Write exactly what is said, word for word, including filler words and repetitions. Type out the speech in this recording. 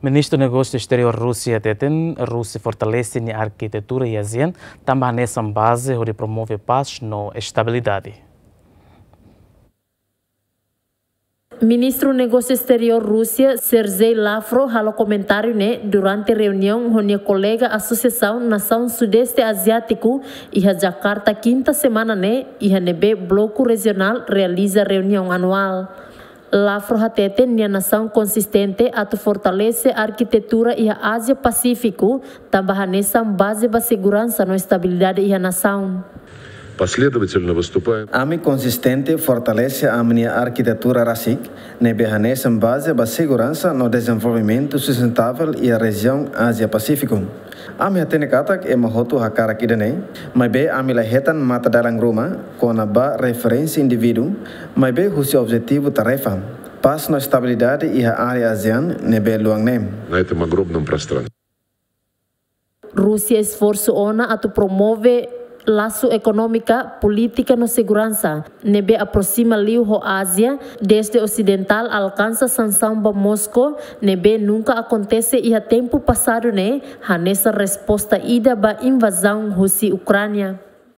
Ministru Negósiu Esteriór Rúsia hateten, Rúsia fortalese nia arkitetura iha ASEAN, tanba hanesan baze hodi promove pás no estabilidade. Ministru Negósiu Esteriór Rúsia, Sergei Lavrov, halo komentáriu ne'e durante reuniaun ho nia kolega Asosiasaun Nasaun Sudeste Aziátiku, iha Jakarta, kinta semana ne'e, iha ne'ebé bloku rejionál realiza reuniaun anuál. Lavrov hateten nia nasaun konsistente atu fortalese arkitetura iha Ázia Pasífiku, tanba hanesan baze ba seguransa no estabilidade iha nasaun. Последовательно выступаем. Ami konsistente fortalese ami-nia arkitetura rasik, ne'ebé hanesan baze ba seguransa no dezenvolvimentu sustentável iha rejiaun Ázia Pasífiku. Ami hatene katak ema hotu hakarak ida-ne'e, maibé ami la hetan matadalan ruma kona-ba referénsia indivíduu, maibé husi objetivu tarefa, pás no estabilidade iha área ASEAN ne'ebé luan ne'e. На этом огромном пространстве. Rúsia esforsu ona atu promove lasu ekonómika, polítika no seguransa, ne'ebé aproxima liu ho Ázia, desde osidentál alkansa sansaun ba Moskó, ne'ebé nunka akontese iha tempu pasadu ne'e, hanesan resposta ida ba invazaun husi Ukránia.